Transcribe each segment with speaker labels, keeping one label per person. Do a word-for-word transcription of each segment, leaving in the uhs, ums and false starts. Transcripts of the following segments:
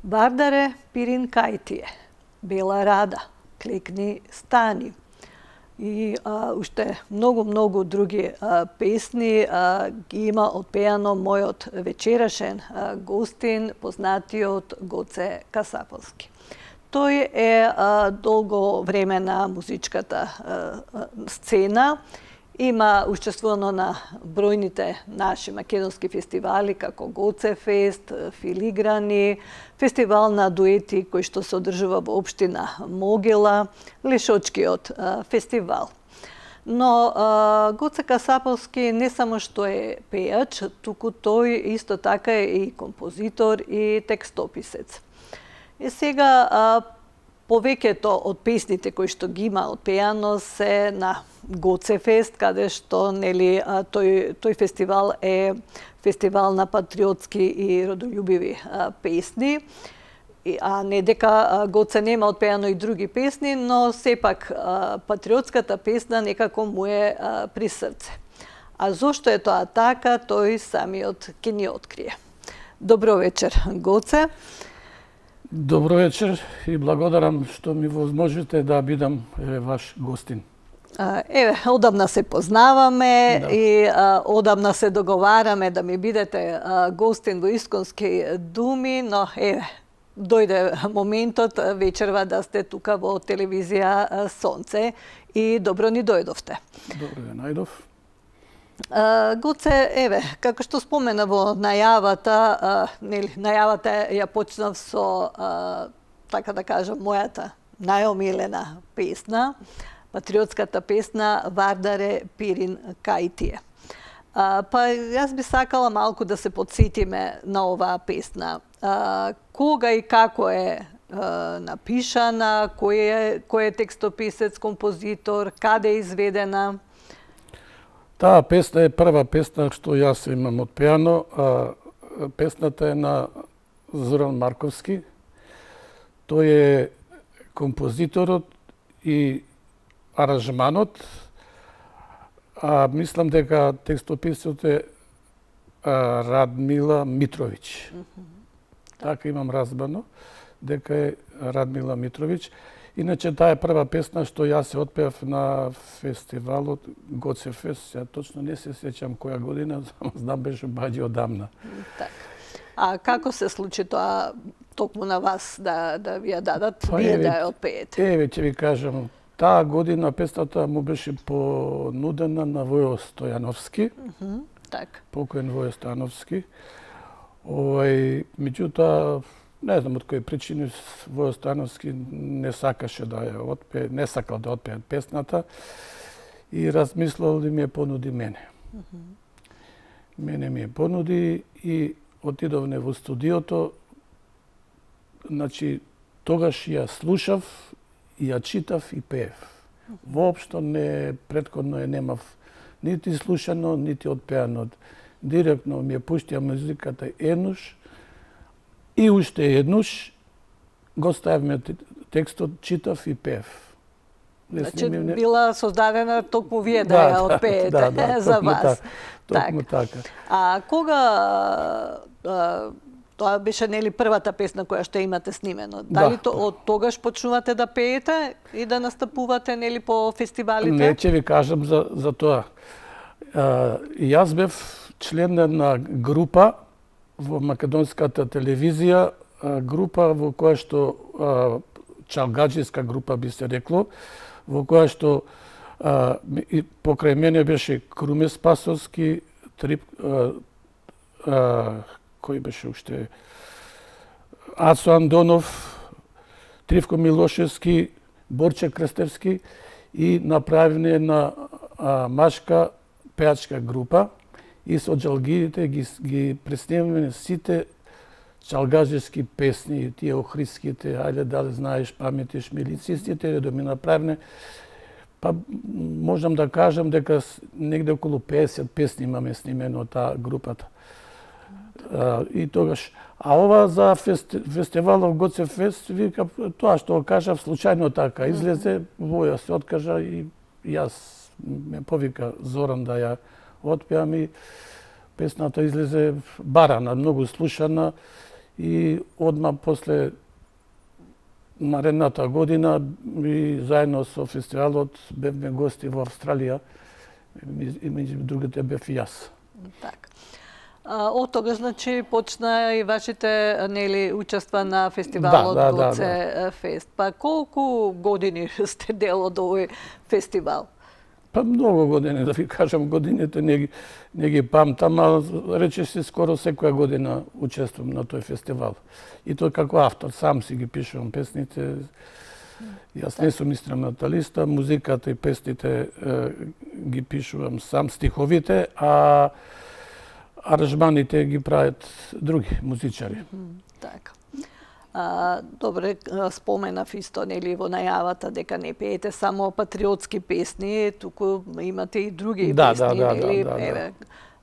Speaker 1: Вардаре пирин кајтие, Бела рада, Клекни стани и а, уште многу-многу други а, песни а, ги има отпеано мојот вечерашен а, гостин, познатиот Гоце Касаповски. Тој е а, долго време на музичката а, сцена. Има учествувано на бројните наши македонски фестивали, како Гоце фест, Филиграни, фестивал на дуети кој што се одржува во општина Могила, Лешочкиот фестивал. Но а, Гоце Касаповски не само што е пејач, туку тој исто така е и композитор и текстописец. И сега а, повеќето од песните кои што ги има отпеано се на Гоце фест, каде што нели тој тој фестивал е фестивал на патриотски и родолюбиви а, песни. И, а не дека Гоце нема отпеано и други песни, но сепак а, патриотската песна некако му е а, при срце. А зошто е тоа така, тој самиот ќе ни открие. Добро вечер, Гоце.
Speaker 2: Добро вечер и благодарам што ми возможите да бидам е, ваш гостин.
Speaker 1: Еве, одамна се познаваме
Speaker 2: Да.
Speaker 1: и а, одамна се договараме да ми бидете а, гостин во Исконски думи, но еве, дојде моментот вечерва да сте тука во телевизија а, Сонце и добро ни дојдовте.
Speaker 2: Добро ве најдов.
Speaker 1: Uh, Гоце, еве, како што спомена во најавата, uh, нели, најавата ја почнав со, uh, така да кажам, мојата најомилена песна, патриотската песна Вардаре пирин кајтие. Uh, па јас би сакала малку да се подсетиме на оваа песна. Uh, кога и како е uh, напишана, кој е, кој е текстописец, композитор, каде е изведена?
Speaker 2: Таа песна е прва песна што јас имам отпеано, а песната е на Зоран Марковски. Тој е композиторот и аранжманот, а мислам дека текстописецот е а, Радмила Митровиќ. Mm -hmm. Така имам разбрано дека е Радмила Митровиќ. Иначе таа е прва песна што јас се отпеав на фестивалот Гоце фест. Ја точно не се сеќам која година, знам беше баѓе одамна.
Speaker 1: Так. А како се случи тоа токму на вас да да ви ја дадат,
Speaker 2: па,
Speaker 1: вие
Speaker 2: еве,
Speaker 1: да ја отпеете?
Speaker 2: Еве ќе ви кажам, таа година песната му беше понудена на Војо Стојановски.
Speaker 1: Mm -hmm. Так.
Speaker 2: Покоен Војо Стојановски. Овај, меѓутоа, не знам од кои причини Војо Стојановски не сакаше да ја отпее, не сакал да отпее песната и размислил да ми ја понуди мене. Mm -hmm. Мене ми ја понуди и отидовме во студиото. Значи, тогаш ја слушав, ја читав и пеев. Воопшто не, претходно ја немав нити слушано, нити отпеано. Директно ми ја пуштија музиката еднуш, и уште еднуш го ставивме текстот, читав и пеев.
Speaker 1: Значи, не... била создадена токму вие да,
Speaker 2: да
Speaker 1: ја отпеете
Speaker 2: да, да,
Speaker 1: за вас.
Speaker 2: Так, токму така.
Speaker 1: А кога а, тоа беше нели првата песна која што имате снимено? Дали
Speaker 2: да,
Speaker 1: то, од тогаш почнувате да пеете и да настапувате нели по фестивалите?
Speaker 2: Не, ќе ви кажам за за тоа. А, јас бев член на група во македонската телевизија, група во која што чалгаџиска група би се рекло, во која што а, и покрај мене беше Круме Спасовски, Трип, а, а, кој беше уште Ацо Андонов, Тривко Милошевски, Борче Крстевски и направивме на а, машка пеачка група и со џалгидите ги, ги преснемаме сите чалгаџиски песни, тие охридските, ајде дали знаеш, паметиш, милицистите, да ми направне. Па можам да кажам дека негде околу песет песни имаме снимено од таа групата. А, и тогаш, а ова за фести, фестивалов Гоце фест, вика, тоа што кажав случајно така, излезе, Воја се откажа и јас ме повика Зоран да ја отпеам и песната излезе барана, многу слушана и одма после наредната година и заедно со фестивалот бевме гости во Австралија, и меѓу другите бев и јас.
Speaker 1: Така. А, од тогаш, значи, почна и вашите, нели, учества на фестивалот
Speaker 2: да, да,
Speaker 1: Гоце
Speaker 2: да, да.
Speaker 1: Фест. Па колку години сте дел од овој фестивал?
Speaker 2: Па многу години, да ви кажам, годините не ги, не ги памтам, а речиси скоро секоја година учествувам на тој фестивал. И тој како автор, сам си ги пишувам песните. Јас не сум инструменталиста, музиката и песните е, ги пишувам сам, стиховите, а аранжманите ги прават други музичари.
Speaker 1: Така. А, добре, споменав исто, нели, во најавата дека не пеете само патриотски песни, туку имате и други
Speaker 2: да,
Speaker 1: песни,
Speaker 2: да, да,
Speaker 1: нели?
Speaker 2: да, да,
Speaker 1: Еве,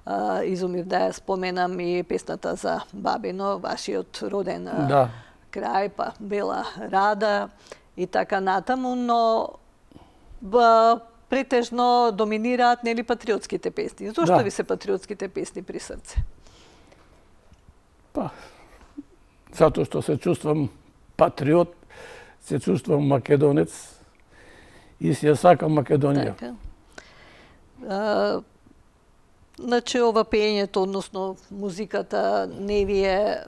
Speaker 1: а, изумив да ја споменам и песната за Бабино, вашиот роден
Speaker 2: да.
Speaker 1: крај, па Бела Рада и така натаму, но ба, претежно доминираат, нели, патриотските песни. Зошто
Speaker 2: да.
Speaker 1: ви се патриотските песни при срце?
Speaker 2: Па, затоа што се чувствам патриот, се чувствам македонец и се сакам Македонија.
Speaker 1: Така. А, значи, ова пеењето, односно музиката, не ви е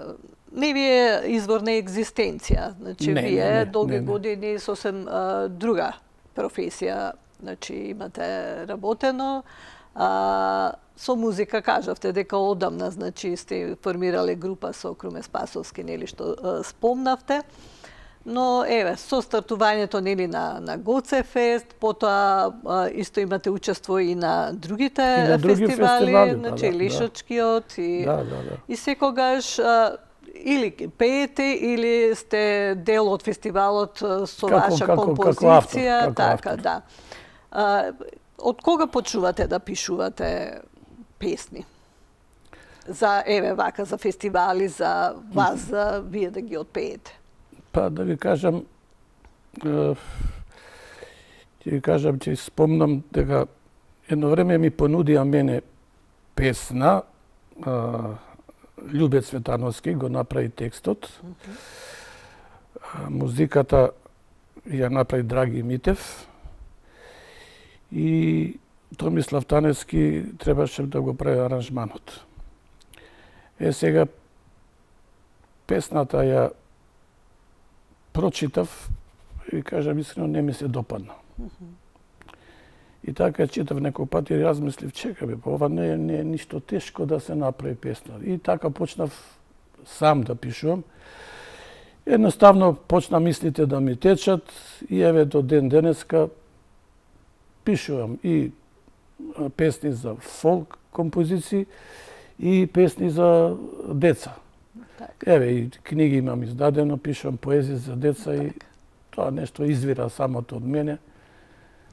Speaker 1: не ви е извор на екзистенција. Значи,
Speaker 2: не,
Speaker 1: вие
Speaker 2: не, не,
Speaker 1: долги
Speaker 2: не, не.
Speaker 1: години сосем а, друга професија, значи, имате работено, а, со музика кажавте дека одамна, значи, сте формирале група со Круме Спасовски, нели, што а, спомнавте. Но, еве, со стартувањето, нели, на, на Гоце Фест, потоа а, исто имате учество и на другите
Speaker 2: И на други
Speaker 1: фестивали,
Speaker 2: фестивали,
Speaker 1: значи,
Speaker 2: да, да,
Speaker 1: Лишачкиот и,
Speaker 2: Да, да, да.
Speaker 1: и секогаш а, или пеете, или сте дел од фестивалот а, со
Speaker 2: Како-
Speaker 1: ваша
Speaker 2: како- како
Speaker 1: композиција,
Speaker 2: автор, како
Speaker 1: така,
Speaker 2: автор.
Speaker 1: да. А, од кога почнувате да пишувате песни? За, еве, вака, за фестивали, за вас, за вие да ги отпеете?
Speaker 2: Па да ви кажам, е, ќе ви кажам, ќе спомнам дека едно време ми понудија мене песна, е, Љубе Цветановски го направи текстот, музиката ја направи Драги Митев и Томислав Таневски требаше да го прави аранжманот. Е, сега песната ја прочитав и кажам искрено не ми се допадна. И така читав некој пат и размислив, чека бе, па ова не е, не е ништо тешко да се направи песна. И така почнав сам да пишувам. Едноставно почна мислите да ми течат и еве до ден денеска пишувам и песни за фолк композиции и песни за деца.
Speaker 1: Така.
Speaker 2: Еве и книги имам издадено, пишувам поезија за деца и тоа нешто извира самото од мене.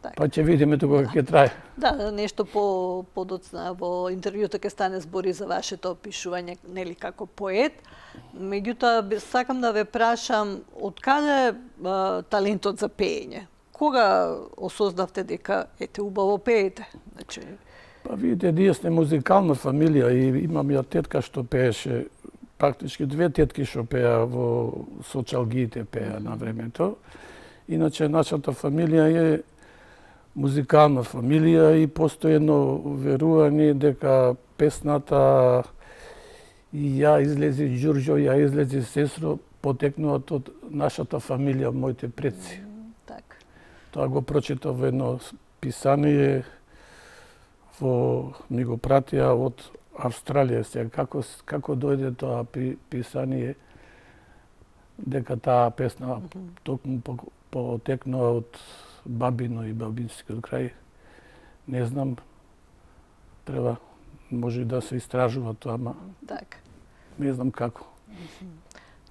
Speaker 1: Така.
Speaker 2: Па ќе видиме тука ќе трае.
Speaker 1: Да, нешто по подоцна во интервјуто ќе стане збори за вашето пишување, нели, како поет. Меѓутоа, бе- сакам да ве прашам, од каде а, талентот за пеење? Кога осознавте дека ете убаво пеете? Значи,
Speaker 2: Па видите, ние сме музикална фамилија и имам ја тетка што пееше, практички две тетки што пеа во Сочалгиите пеа на времето. Иначе нашата фамилија е музикална фамилија и постои едно верување дека песната и ја излези Ѓурѓо, ја излези Сестро, потекнуваат од нашата фамилија, моите предци.
Speaker 1: така.
Speaker 2: Тоа го прочитав во едно писание, во ми го пратија од Австралија. Сега како како дојде тоа пи, писание дека таа песна токму по, потекнува од Бабино и Бабинскиот крај, не знам. Треба може и да се истражува тоа, ама
Speaker 1: Така.
Speaker 2: не знам како.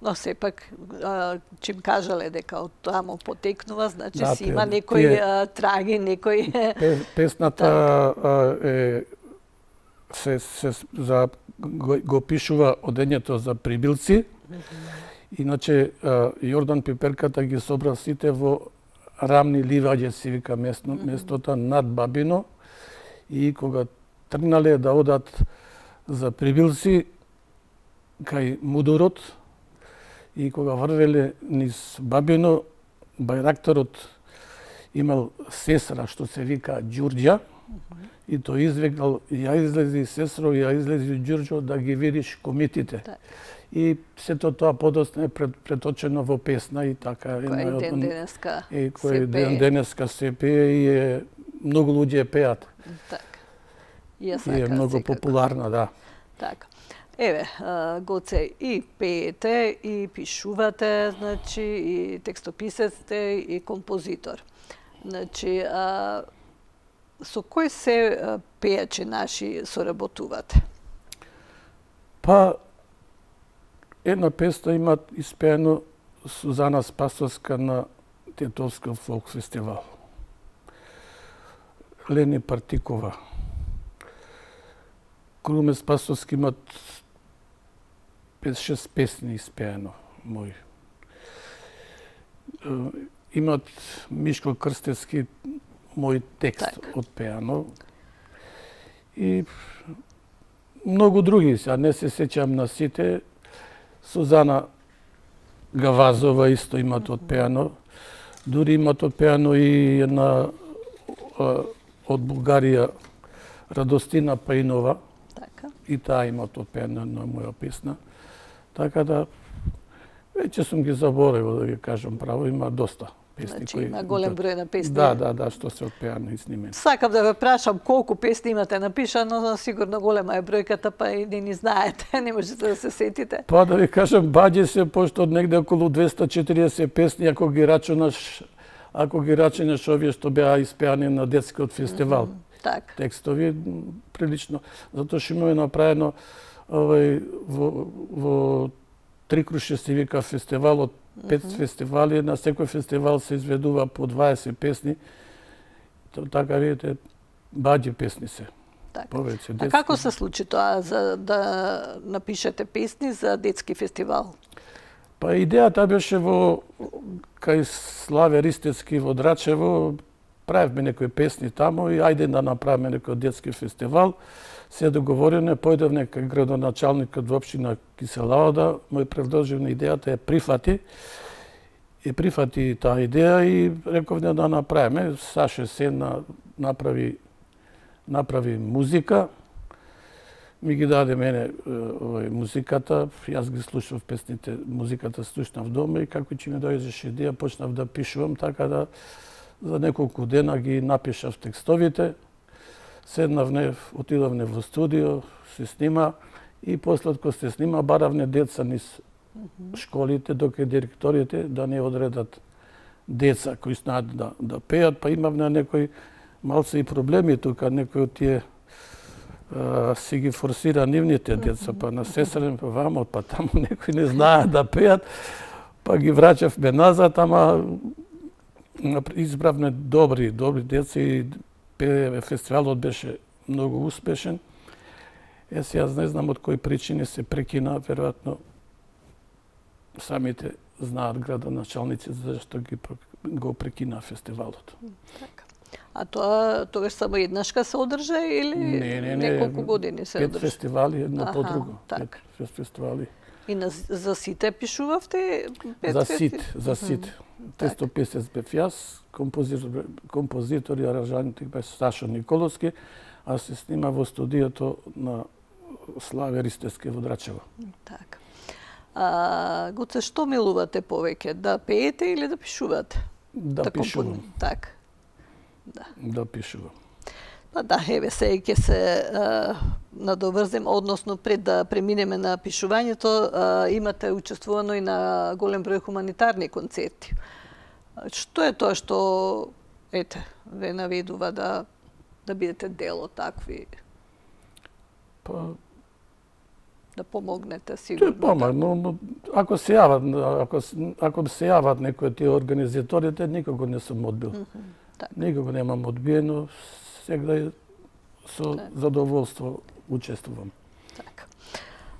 Speaker 1: Но сепак, а, чим кажале дека од таму потекнува, значи
Speaker 2: Да,
Speaker 1: си има
Speaker 2: тие-
Speaker 1: некои
Speaker 2: тие-
Speaker 1: а, траги, некои...
Speaker 2: Пе- Песната а, е се, се за го, го пишува одењето за прибилци. Иначе а, Јордан Пиперката ги собра сите во Рамни ливаѓе, си вика местно, местото над Бабино, и кога тргнале да одат за прибилци кај Мудурот, И кога врвеле низ Бабино, бајракторот имал сестра што се вика Ѓурѓа, и тој извикал, ја излези сестро, ја излези Ѓурѓо да ги видиш комитите.
Speaker 1: Так.
Speaker 2: И сето тоа подоцна е пред, преточено во песна и така.
Speaker 1: Кој ден денеска
Speaker 2: и кој ден денеска се пее и е, многу луѓе пеат.
Speaker 1: Так. И е,
Speaker 2: и е многу секако популарна, да.
Speaker 1: Така. Еве, Гоце, и пеете, и пишувате, значи, и текстописец сте, и композитор. Значи, а, со кој се пејачи наши соработувате?
Speaker 2: Па, една песна има испеено Сузана Спасовска на Тетовска фолк фестивал. Лени Партикова. Круме Спасовски имат пет-шест песни испеено мои. Имат Мишко Крстевски мој текст так. Отпеано. И многу други, сега не се сеќам на сите. Сузана Гавазова исто имат отпеано. Дури имат отпеано и една од Бугарија Радостина Пајнова.
Speaker 1: Така.
Speaker 2: И таа имат отпеано на моја песна. Така да, веќе сум ги заборавил, да ги кажам право, има доста песни.
Speaker 1: Значи,
Speaker 2: кои...
Speaker 1: има голем број на песни.
Speaker 2: Да, да, да, што се отпеано и снимени.
Speaker 1: Сакам да ве прашам колку песни имате напишано, но сигурно голема е бројката, па и не ни знаете, не можете да се сетите.
Speaker 2: Па да ви кажам, баѓе се, пошто од негде околу двеста четириесет песни, ако ги рачунаш, ако ги рачунаш овие што беа испеани на детскиот фестивал. Mm -hmm.
Speaker 1: Так.
Speaker 2: Текстови прилично, затоа што имаме направено овој во, во Трикруше се вика фестивалот, пет mm -hmm. фестивали, на секој фестивал се изведува по дваесет песни. Така видите, баѓи песни се.
Speaker 1: Так.
Speaker 2: Повеќе детски.
Speaker 1: А како се случи тоа за да напишете песни за детски фестивал?
Speaker 2: Па идејата беше во кај Славе Ристецки во Драчево, правевме некои песни таму и ајде да направиме некој детски фестивал. Се договорене, појдовне кај градоначалникот во општина Киселаода, мој предложив на идејата, ја прифати. И прифати таа идеја и рековне да направиме. Саше Сена направи направи музика. Ми ги даде мене овој музиката, јас ги слушав песните, музиката слушнав дома и како ќе ми дојдеше идеја, почнав да пишувам, така да за неколку дена ги напишав текстовите. Седнавне, отидовне во студио, се снима и после кога се снима баравне деца низ школите, доке директорите да не одредат деца кои знаат да, да пеат, па имавме некои малце и проблеми тука, некои од тие а, си ги форсира нивните деца, па на сестрен, па вамо, па таму некои не знаат да пеат, па ги враќавме назад, ама избравме добри, добри деца и фестивалот беше многу успешен. Е, јас не знам од кои причини се прекина, веројатно самите знаат градоначалници зашто ги го прекина фестивалот.
Speaker 1: Така. А тоа тогаш само еднашка се одржа или
Speaker 2: не, не, не,
Speaker 1: неколку години се
Speaker 2: пет
Speaker 1: одржа?
Speaker 2: Пет фестивали, едно
Speaker 1: Аха,
Speaker 2: по друго.
Speaker 1: так.
Speaker 2: Пет фестивали.
Speaker 1: И на, за сите пишувавте? Пет
Speaker 2: за
Speaker 1: фести...
Speaker 2: сите, за сите. Текстописец бев јас, композитор, композитор и аранжантик беше Сашо Николовски, а се снима во студиото на Славе Ристецки во Драчево.
Speaker 1: Така. А, Гоце, што милувате повеќе? Да пеете или да пишувате?
Speaker 2: Да, да пишувам.
Speaker 1: Компон... Так. Да.
Speaker 2: Да пишувам.
Speaker 1: Па да, еве се ќе се а, надоврзем, односно пред да преминеме на пишувањето, а, имате учествувано и на голем број хуманитарни концерти. Што е тоа што ете ве наведува да да бидете дел од такви?
Speaker 2: Па
Speaker 1: да помогнете сигурно.
Speaker 2: Тоа помогно, но ако се јават, ако ако се јават некои тие организаторите, никога не сум одбил. Mm -hmm, так. Никога немам одбиено, сега со так. задоволство учествувам.
Speaker 1: Така.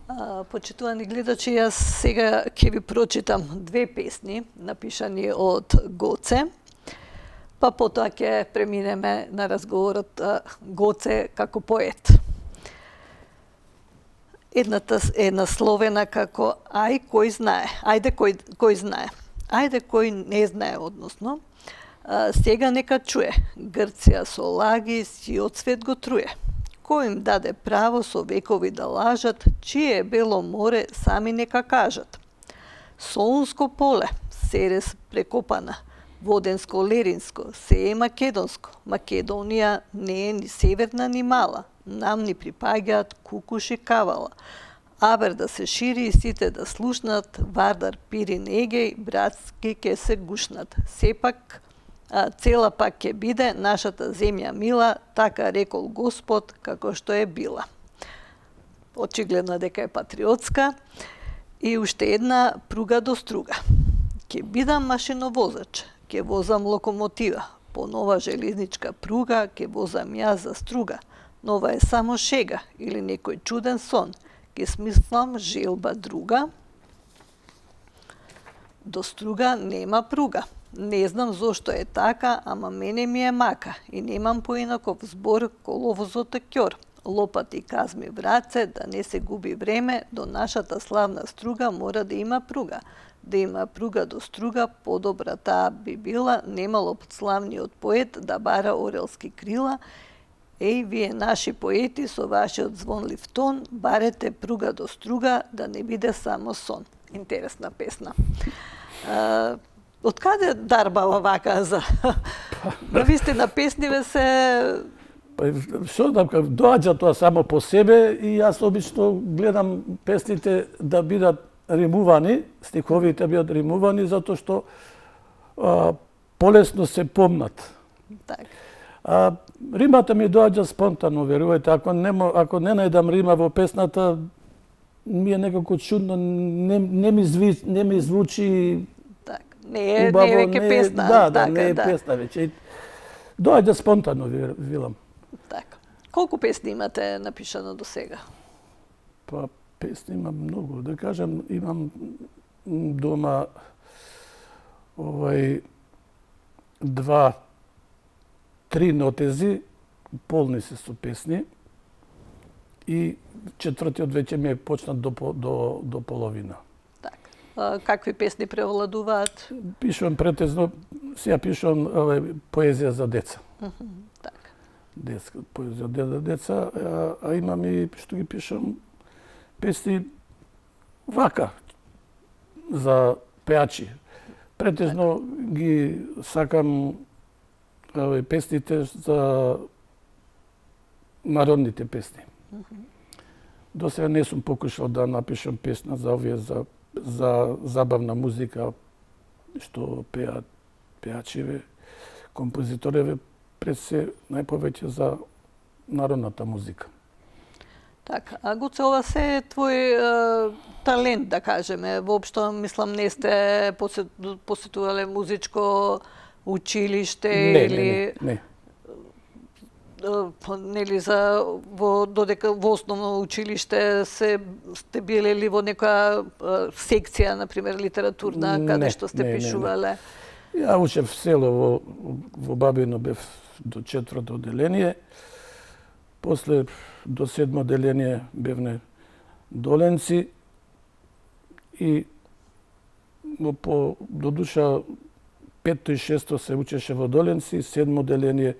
Speaker 1: А, почитувани гледачи, јас сега ќе ви прочитам две песни напишани од Гоце, па потоа ќе преминеме на разговорот Гоце како поет. едната е насловена како Ај кој знае. Ајде кој, кој знае. Ајде кој не знае, односно. А, сега нека чуе. Грција со лаги сиот свет го труе. Кој им даде право со векови да лажат, чие е бело море, сами нека кажат. Солунско поле, Серес прекопана, Воденско, Леринско, се е македонско. Македонија не е ни северна ни мала. Нам ни припаѓаат Кукуш и Кавала. Абер да се шири и сите да слушнат, Вардар, Пирин, Егеј, братски ке се гушнат. Сепак, а, цела пак ќе биде нашата земја мила, така рекол Господ, како што е била. Очигледно дека е патриотска. И уште една пруга до струга. Ке бидам машиновозач, ке возам локомотива, по нова железничка пруга ке возам јас за струга. Нова е само шега или некој чуден сон, ке смислам желба друга. До струга нема пруга. Не знам зошто е така, ама мене ми е мака и немам поинаков збор коловозот е ќор. Лопати казми враце, да не се губи време, до нашата славна струга мора да има пруга. Да има пруга до струга, подобра таа би била, немало славниот поет да бара орелски крила. Еј, вие наши поети со вашиот звонлив тон, барете пруга до струга, да не биде само сон. Интересна песна. А, од каде дарбава вака за... Навистина песниве се...
Speaker 2: Па, што да кажам, доаѓа тоа само по себе и јас обично гледам песните да бидат римувани, стиховите бидат римувани, затоа што а, полесно се помнат.
Speaker 1: Так.
Speaker 2: А, римата ми доаѓа спонтано, верувајте. Ако не, ако не најдам рима во песната, ми е некако чудно, не, не, ми, зви, не ми звучи
Speaker 1: так. Не е,
Speaker 2: убаво,
Speaker 1: не е веќе песна.
Speaker 2: Да, да,
Speaker 1: така,
Speaker 2: не е
Speaker 1: да.
Speaker 2: песна веќе. Доаѓа спонтано, велам.
Speaker 1: Така. Колку песни имате напишано до сега?
Speaker 2: Па, песни имам многу. Да кажам, имам дома овај два, три нотези, полни се со песни, и четвртиот веќе ми е почнат до, до, до половина.
Speaker 1: Така. А, какви песни превладуваат?
Speaker 2: Пишувам претезно, сега пишувам овај, поезија за деца.
Speaker 1: Uh -huh. Така.
Speaker 2: Детска поезија за деца, а, а имам и што ги пишам песни вака за пеачи. Претежно ги сакам овај песните за народните песни. Uh -huh. До сега не сум покушал да напишам песна за овие за за забавна музика што пеат пеачиве, композитореве, пред се најповеќе за народната музика.
Speaker 1: Така, а Гуце, ова се е твој е, талент, да кажеме. Воопшто, мислам, не сте посет, посетувале музичко училиште
Speaker 2: не,
Speaker 1: или...
Speaker 2: Не, не, не.
Speaker 1: Нели за во додека во основно училиште се сте биле ли во нека секција, на пример литературна, каде
Speaker 2: не,
Speaker 1: што сте
Speaker 2: не,
Speaker 1: пишувале?
Speaker 2: Не, не. Ја учев село во во Бабино, бев до четврто одделение. После до седмо одделение бевне Доленци и по до душа петто и шесто се учеше во Доленци, седмо одделение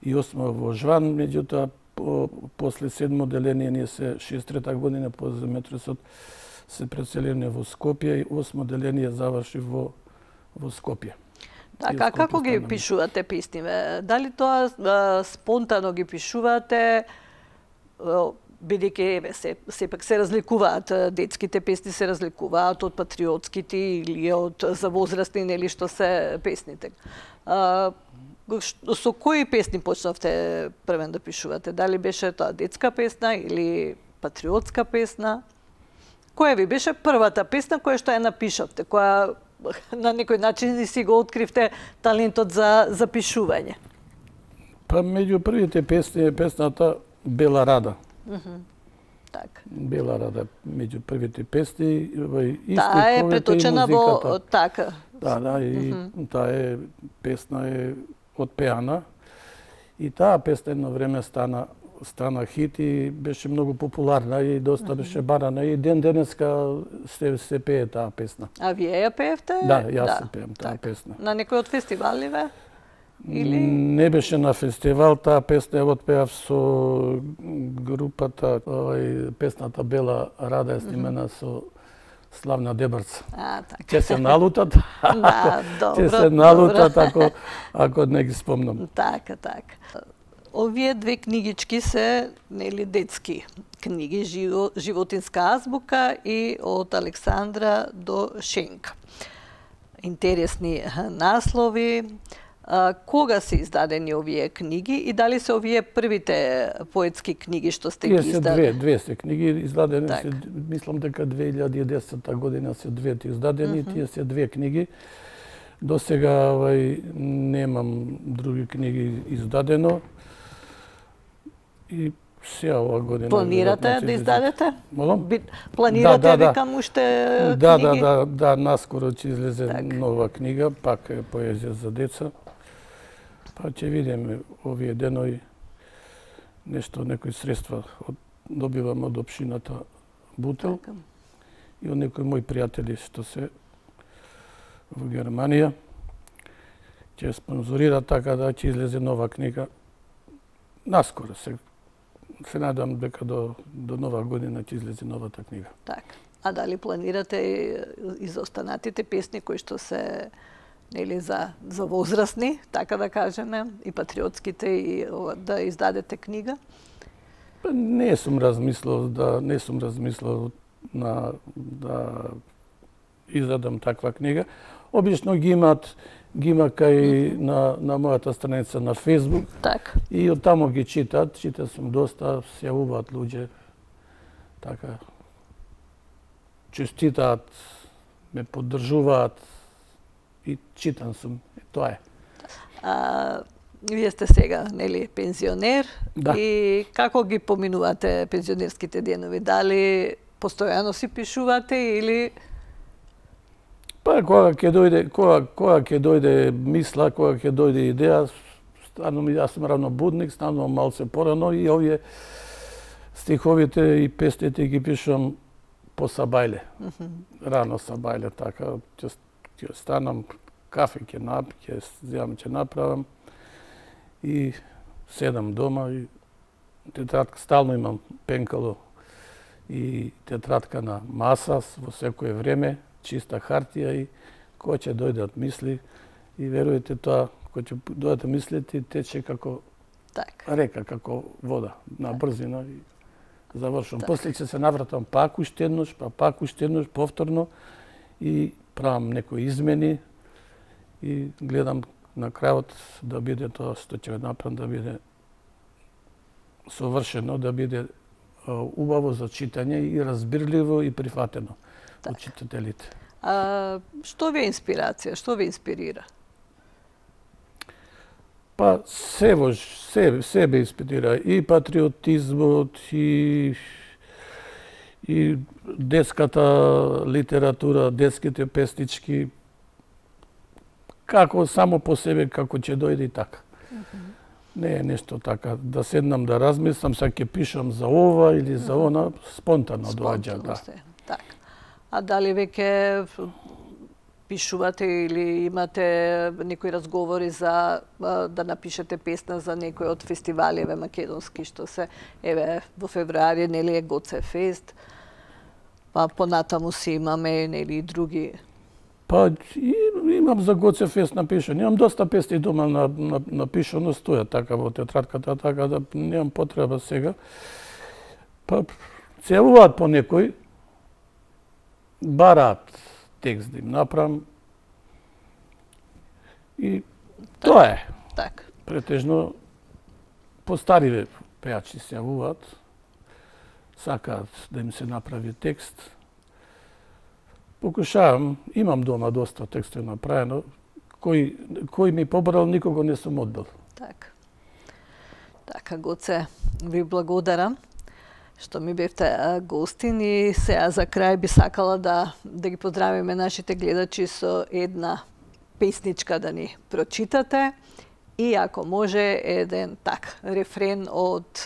Speaker 2: и осмо во Жван, меѓутоа по, после седмо одделение ние се шеесет и трета година по земјотресот се преселени во Скопје и осмо одделение заврши во во Скопје.
Speaker 1: Така, како ги пишувате песниве? Дали тоа а, спонтано ги пишувате, бидејќи еве се сепак се разликуваат детските песни, се разликуваат од патриотските или од за возрастни, нели што се песните. А, со кои песни почнавте првен да пишувате? Дали беше тоа детска песна или патриотска песна? Која ви беше првата песна која што ја напишавте, која на некој начин и си го откривте талентот за за пишување?
Speaker 2: Па меѓу првите песни е песната Бела Рада.
Speaker 1: Mm -hmm. Так.
Speaker 2: Бела Рада меѓу првите песни, и
Speaker 1: таа е преточена во така.
Speaker 2: Да, да, и mm -hmm. таа е песна е отпеана и таа песна едно време стана стана хит и беше многу популарна и доста беше барана и ден денеска се се пее таа песна.
Speaker 1: А вие ја пеевте?
Speaker 2: Да, јас да, се пеем таа песна.
Speaker 1: На некој од фестиваливе? Или
Speaker 2: не беше на фестивал, таа песна ја отпеав со групата, овај песната Бела Рада е снимена со Славна Дебарца.
Speaker 1: А, така.
Speaker 2: Ќе се налутат.
Speaker 1: Да, добро.
Speaker 2: Ќе се налутат ако ако не ги спомнам.
Speaker 1: Така, така. Овие две книгички се нели детски книги, живо, животинска азбука и од Александра до Шенка. Интересни наслови. А, кога се издадени овие книги и дали се овие првите поетски книги што сте ги издадени?
Speaker 2: Две, две се книги издадени
Speaker 1: так.
Speaker 2: се, мислам дека две илјади и десета година се двете издадени, mm -hmm. тие се две книги. До сега овај немам други книги издадено. И сега ова година
Speaker 1: планирате да издадете?
Speaker 2: Молам?
Speaker 1: Планирате
Speaker 2: да, да,
Speaker 1: викам уште
Speaker 2: да,
Speaker 1: книги?
Speaker 2: Да, да, да, наскоро ќе излезе
Speaker 1: так.
Speaker 2: нова книга, пак е поезија за деца. Па ќе видиме овие денови нешто, некои средства од, добивам од општината Бутел
Speaker 1: така.
Speaker 2: И од некои мои пријатели што се во Германија ќе спонзорира така да ќе излезе нова книга наскоро. Се, се надам дека до, до нова година ќе излезе новата книга.
Speaker 1: Така. А дали планирате и изостанатите песни кои што се нели за за возрастни, така да кажеме, и патриотските и да издадете книга?
Speaker 2: Па не сум размислил да не сум размислил на да издадам таква книга. Обично ги имаат ги има кај на на мојата страница на Facebook.
Speaker 1: Така.
Speaker 2: И од таму ги читат, чита сум доста, се јавуваат луѓе. Така честитаат, ме поддржуваат и читан сум. И тоа е.
Speaker 1: А, вие сте сега, нели, пензионер,
Speaker 2: да.
Speaker 1: И како ги поминувате пензионерските денови? Дали постојано си пишувате или
Speaker 2: Па кога ќе дојде, кога кога ќе дојде мисла, кога ќе дојде идеја, станувам јас сум равнобудник, станувам малце порано и овие стиховите и песните ги пишувам по сабајле. Mm -hmm. Рано сабајле, така, ќе ќе станам, кафе ќе нап, ќе земам, ќе направам и седам дома и тетрадка, стално имам пенкало и тетрадка на маса во секое време, чиста хартија и кој ќе дојдат мисли и верујте тоа, кој ќе дојдат мислите, тече како
Speaker 1: так.
Speaker 2: река, како вода, на брзина и завршувам. Так. После ќе се навратам пак уште еднош, па пак уште еднош, повторно и правам некои измени и гледам на крајот да биде тоа што ќе направам да биде совршено, да биде убаво за читање и разбирливо и прифатено од читателите.
Speaker 1: А што ви е инспирација? Што ви инспирира?
Speaker 2: Па се себе, себе инспирира и патриотизмот и и детската литература, детските песнички, како само по себе како ќе дојде и така. Mm -hmm. Не е нешто така да седнам да размислам, сега ќе пишам за ова или за она, спонтано доаѓа, да.
Speaker 1: Така. А дали веќе пишувате или имате некои разговори за да напишете песна за некој од фестиваливе македонски што се еве во февруари нели е Гоце фест, па понатаму си имаме нели и други.
Speaker 2: Па имам за Гоце фест напишано. Имам доста песни дома на, на напишано, стоја така во тетрадката, така да немам потреба сега. Па се јавуваат по некој, бараат текст да им направам. И
Speaker 1: так,
Speaker 2: тоа е.
Speaker 1: Так.
Speaker 2: Претежно постариве пејачи се јавуваат, сакаат да им се направи текст. Покушавам, имам дома доста текстови направено, кој кој ми побрал никого не сум одбил.
Speaker 1: Така. Така, Гоце, ви благодарам што ми бевте гостин и сега за крај би сакала да да ги поздравиме нашите гледачи со една песничка да ни прочитате И ако може еден так рефрен од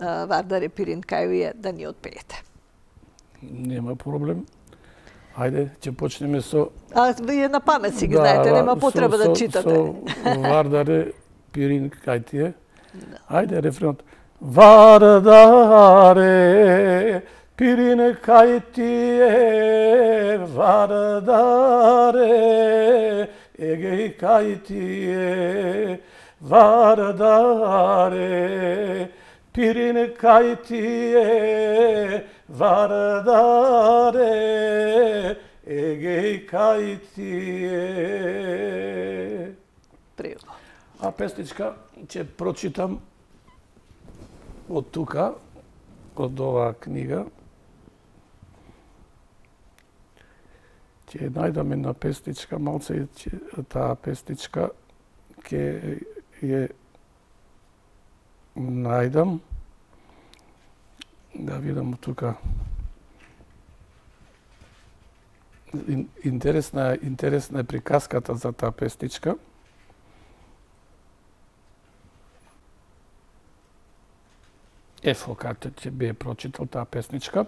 Speaker 1: Вардаре Пиринкајује да ни отпеете.
Speaker 2: Нема проблем. Ајде, ќе почнеме со...
Speaker 1: А вие на памет си ги да, знаете, нема потреба со, да читате.
Speaker 2: Со Вардаре Пиринкајтие. Ајде, рефренот. Вардаре Пиринкајтие, Вардаре Егејкајтие, Вардаре Пиринкајтие, Вардаре Егејкајтие.
Speaker 1: Пријатно.
Speaker 2: А песничка ќе прочитам од тука, од оваа книга. Ќе најдам една песничка, малце таа песничка ќе ја најдам. Да видам тука. Интересна, интересна е приказката за таа песничка. Ефо, кате ќе би прочитал таа песничка.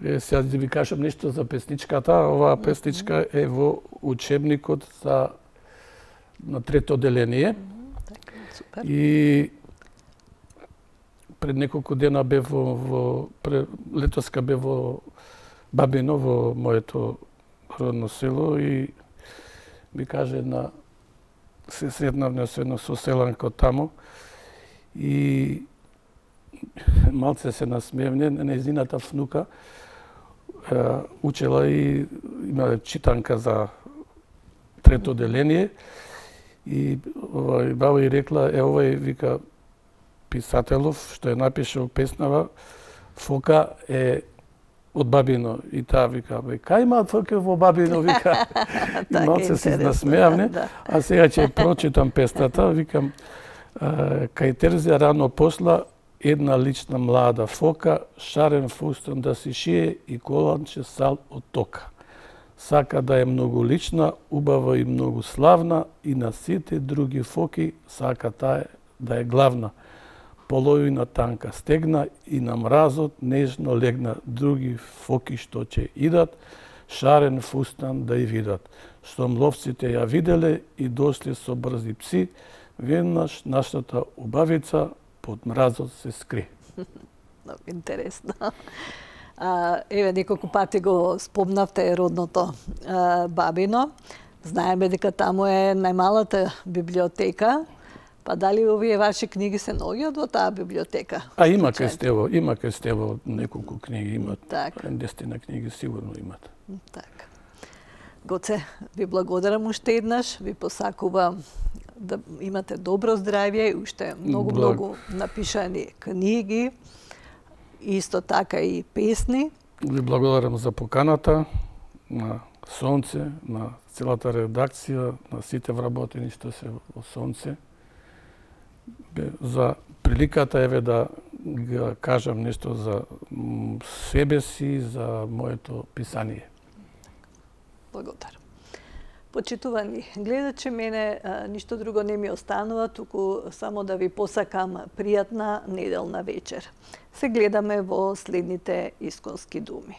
Speaker 2: Е, сега да ви кажам нешто за песничката. Оваа песничка е во учебникот за на трето одделение.
Speaker 1: Супер.
Speaker 2: И пред неколку дена бев во, во пред, летоска бев во Бабино, во моето родно село и ми каже една се сретнавме со едно соселанко таму и малце се насмевне, нејзината внука е, учела и има читанка за трето одделение и овој баба и рекла, е овој вика писателов што е напишал песнава, Фока е од Бабино и таа вика, бе, кај има Фока во Бабино, вика. Малце се насмеавне, а сега ќе прочитам песната, викам, кај Терзија рано посла една лична млада Фока, шарен фустан да си шие и коланче сал од тока. Сака да е многу лична, убава и многу славна и на сите други фоки сака таа да е главна. Половина танка стегна и на мразот нежно легна други фоки што ќе идат, шарен фустан да ја видат. Штом ловците ја виделе и дошле со брзи пси, веднаш нашата убавица под мразот се скри.
Speaker 1: Много интересно. А, еве, неколку пати го спомнавте родното а, Бабино. Знаеме дека таму е најмалата библиотека. Па дали овие ваши книги се наоѓаат во таа библиотека?
Speaker 2: А има кај Стево, има кај Стево неколку книги имат.
Speaker 1: Така.
Speaker 2: десетина книги сигурно имат.
Speaker 1: Така. Гоце, ви благодарам уште еднаш, ви посакувам да имате добро здравје и уште многу,
Speaker 2: Благ...
Speaker 1: многу напишани книги, исто така и песни.
Speaker 2: Ви благодарам за поканата на Сонце, на целата редакција, на сите вработени што се во Сонце. За приликата еве да ga кажам нешто за себе си, за моето писание.
Speaker 1: Благодарам. Почитувани гледачи, мене а, ништо друго не ми останува, туку само да ви посакам пријатна неделна вечер. Се гледаме во следните исконски думи.